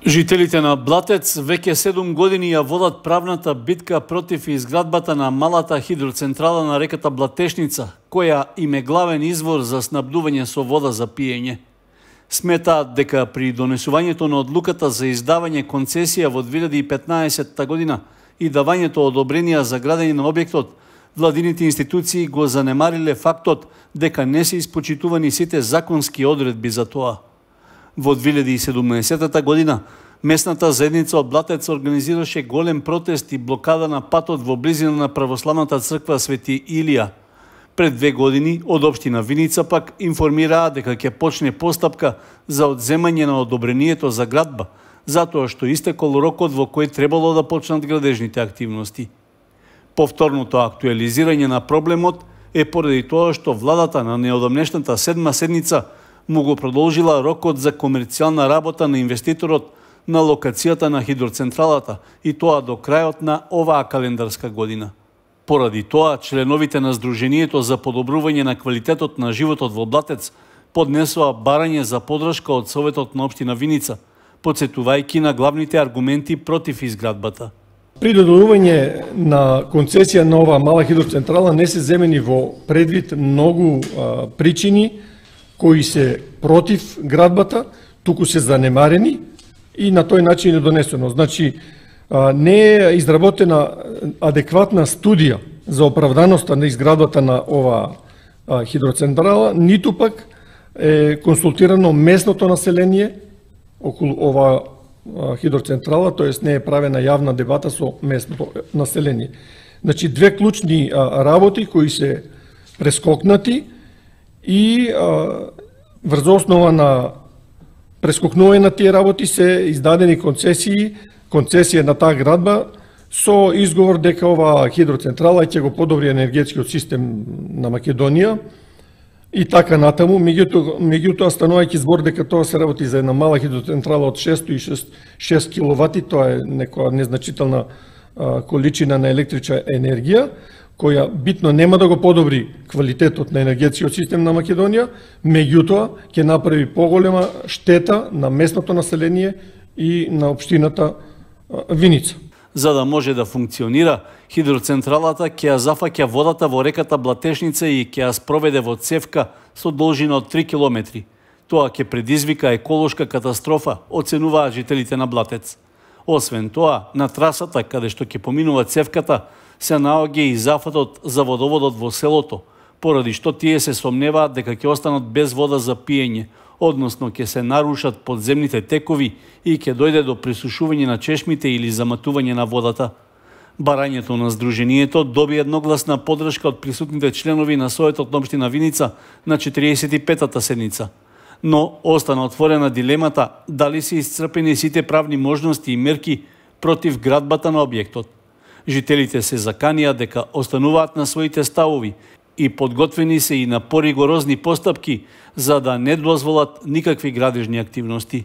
Жителите на Блатец веќе 7 години ја водат правната битка против изградбата на малата хидроцентрала на реката Блатешница, која им е главен извор за снабдување со вода за пиење. Сметаат дека при донесувањето на одлуката за издавање концесија во 2015 година и давањето одобренија за градење на објектот, владините институции го занемариле фактот дека не се испочитувани сите законски одредби за тоа. Во 2017 година, местната заедница од Блатец организираше голем протест и блокада на патот во близина на православната црква Свети Илија. Пред 2 години, од општина Виница пак информираа дека ќе почне постапка за одземање на одобрението за градба, затоа што истекол рокот во кој требало да почнат градежните активности. Повторното актуализирање на проблемот е поради тоа што владата на неодамнешната 7-ма седница му го продолжила рокот за комерцијална работа на инвеститорот на локацијата на хидроцентралата и тоа до крајот на оваа календарска година. Поради тоа, членовите на Сдруженијето за подобрување на квалитетот на животот во Блатец поднесоа барање за подршка од Советот на општина Виница, потсетувајќи на главните аргументи против изградбата. При додадување на концесија на оваа мала хидроцентрала не се земени во предвид многу причини кои се против градбата, туку се занемарени и на тој начин е донесено. Значи, не е изработена адекватна студија за оправданоста на изградбата на оваа хидроцентрала, ниту пак е консултирано местното население околу оваа хидроцентрала, тоест не е правена јавна дебата со местното население. Значи, две клучни работи кои се прескокнати и врз основа на прескокнување на тие работи се издадени концесија на таа градба со изговор дека оваа хидроцентрала ќе го подобри енергетскиот систем на Македонија и така натаму. Меѓутоа, станувајќи збор дека тоа се работи за една мала хидроцентрала од 606 киловати, тоа е некоја незначителна количина на електрична енергија, која битно нема да го подобри квалитетот на енергетскиот систем на Македонија, меѓутоа ќе направи поголема штета на местното население и на општината Виница. За да може да функционира, хидроцентралата ќе ја зафаќа водата во реката Блатешница и ќе ја спроведе во цевка со должина од 3 километри. Тоа ќе предизвика еколошка катастрофа, оценуваат жителите на Блатец. Освен тоа, на трасата каде што ќе поминува цевката, се наоѓа и зафатот за водоводот во селото, поради што тие се сомневаат дека ќе останат без вода за пиење, односно ќе се нарушат подземните текови и ќе дојде до пресушување на чешмите или заматување на водата. Барањето на Сдруженијето доби едногласна подршка од присутните членови на Советот на општина Виница на 45-та седница. Но остана отворена дилемата дали се исцрпени сите правни можности и мерки против градбата на објектот. Жителите се заканија дека остануваат на своите ставови и подготвени се и на поригорозни постапки за да не дозволат никакви градежни активности.